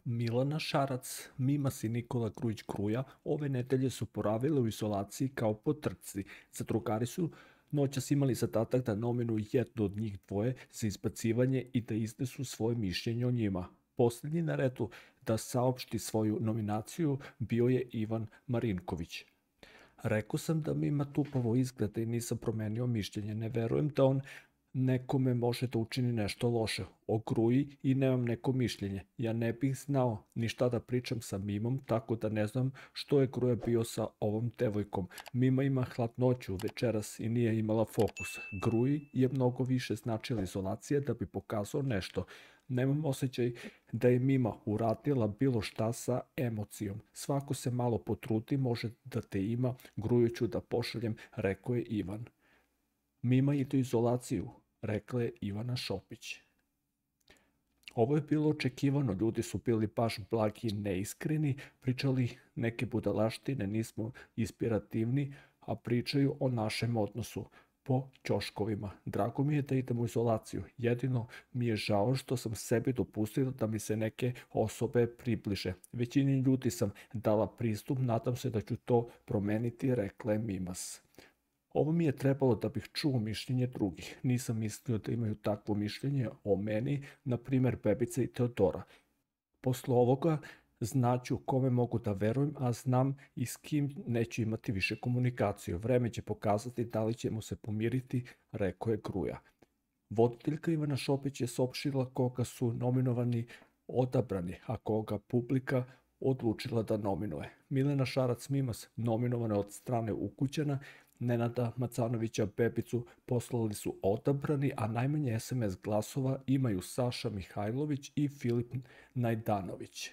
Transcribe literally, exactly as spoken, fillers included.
Milana Šarac, Mimas i Nikola Grujić-Gruja ove nedelje su boravile u izolaciji kao po trci. Zadrugari su noćas imali zadatak da nominuju jednu od njih dvoje za izbacivanje i da iznesu svoje mišljenje o njima. Posljednji na redu da saopšti svoju nominaciju bio je Ivan Marinković. Rekao sam da mi ima tupavo izgleda i nisam promenio mišljenje. Ne verujem da on nekome može da učini nešto loše. O Gruji i nemam neko mišljenje. Ja ne bih znao ni šta da pričam sa Mimom, tako da ne znam što je Gruja bio sa ovom devojkom. Mima ima hladnoću večeras i nije imala fokus. Gruji je mnogo više značila izolacija da bi pokazao nešto. Nemam osjećaj da je Mima uradila bilo šta sa emocijom. Svako se malo potrudi, može da te ima, Gruju ću da pošaljem, rekao je Ivan. Mima ide u izolaciju, rekla je Ivana Šopić. Ovo je bilo očekivano, ljudi su bili baš blagi i neiskreni, pričali neke budalaštine, nismo inspirativni, a pričaju o našem odnosu po ćoškovima. Drago mi je da idem u izolaciju, jedino mi je žao što sam sebi dopustila da mi se neke osobe približe. Većini ljudi sam dala pristup, nadam se da ću to promeniti, rekla je Mimas. Ovo mi je trebalo da bih čuo mišljenje drugih. Nisam mislio da imaju takvo mišljenje o meni, na primjer Bebica i Teodora. Posle ovoga znaću kome mogu da verujem, a znam i s kim neću imati više komunikaciju. Vreme će pokazati da li ćemo se pomiriti, rekao je Gruja. Voditeljka Ivana Šopić je saopštila koga su nominovani odabrani, a koga publika odlučila da nominuje. Milena Šarac-Mimas nominovana od strane ukućana, Nenada Macanovića Bebicu poslali su odabrani, a najmanje es em es glasova imaju Saša Mihajlović i Filip Najdanović.